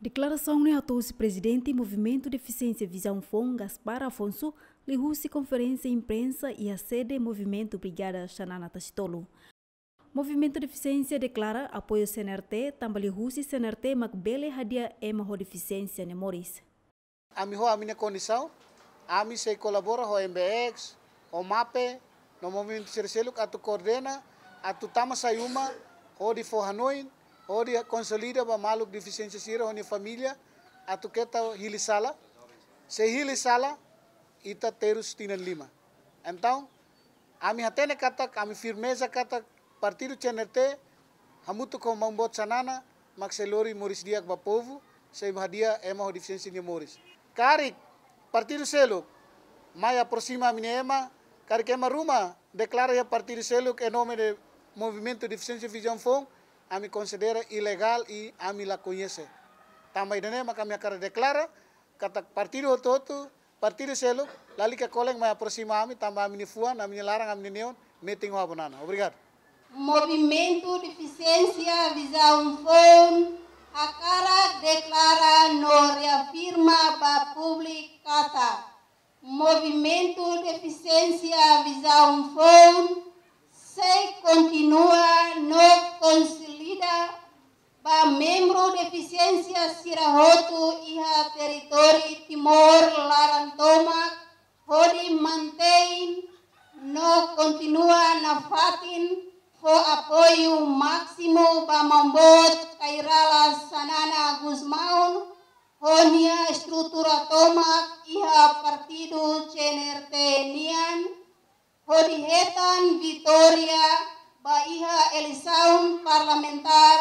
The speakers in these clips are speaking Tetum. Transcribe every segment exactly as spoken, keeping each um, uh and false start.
Deklarasaun ne'e hato'o husi Prezidente Movimentu Defisiénsia Vizaun Foun, Gaspar Afonso, liuhusi konferénsia imprensa iha sede Movimentu Brigada Xanana Tasitolu. Movimentu Defisiénsia deklara apoiu C N R T, tanba liuhusi C N R T mak bele hadi'a ema ho defisiénsia nia moris. Ami ho ami-nia kondisaun, ami sei kolabora ho M B X, ho MAPE, no movimentu sira seluk atu koordena, atu tama sai uma, hodi fó hanoin, hodi konsolida ba maluk defisiénsia sira ho nia família, atu keta hili sala. Se hili sala, ita terus tinan lima. Entaun, ami hatene katak, ami firmeza katak, partidu C N R T, hamutuk ho Maun Boot Xanana, mak sei lori moris di'ak ba povu, sei hadi'a ema ho defisiénsia nia moris. Karik partidu seluk mai aproxima ami-nia ema, karik ema ruma deklara iha partidu seluk em nome de Movimentu Defisiénsia Vizaun Foun, ami konsidera ilegál i ami la koñese. Tanba ida-ne'e mak ami hakarak deklara, katak partidu hotu-hotu, partidu seluk, lalika kolen mai aproxima ami, tanba ami-nia fuan, ami-nia laran, ami-nia neon, metin ho Abu Nana. Obrigadu. Movimentu Defisiénsia Vizaun Foun hakarak deklara no reafirma ba públiku katak Movimentu Defisiénsia Vizaun Foun sei kontinua no konsolida ba membru defisiénsia sira hotu iha territóriu Timor laran tomak, hodi mantein no kontinua nafatin fó apoiu másimu ba Maun Boot Kay Rala Xanana Gusmão ho nia estrutura tomak iha partidu C N R T nian, hodi hetan vitória ba iha eleisaun parlamentár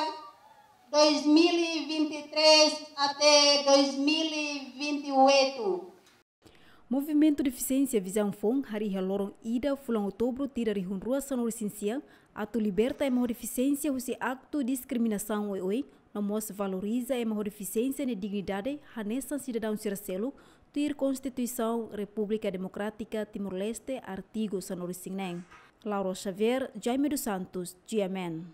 dois mil e vinte e três até dois mil e vinte e oito. Movimentu Defisiénsia Vizaun Foun harii iha loron ida fulan Outubru tinan rihun rua sanulu-resin-sia atu liberta ema ho defisiénsia husi aktu diskriminasaun oioin, no mós valoriza ema ho defisiénsia nia dignidade hanesan sidadaun sira seluk, tuir Konstituisaun Repúblika Demokrátika Timor-Leste, artigu sanulu-resin-neen. Laura Xavier, Jaime dos Santos, G M N.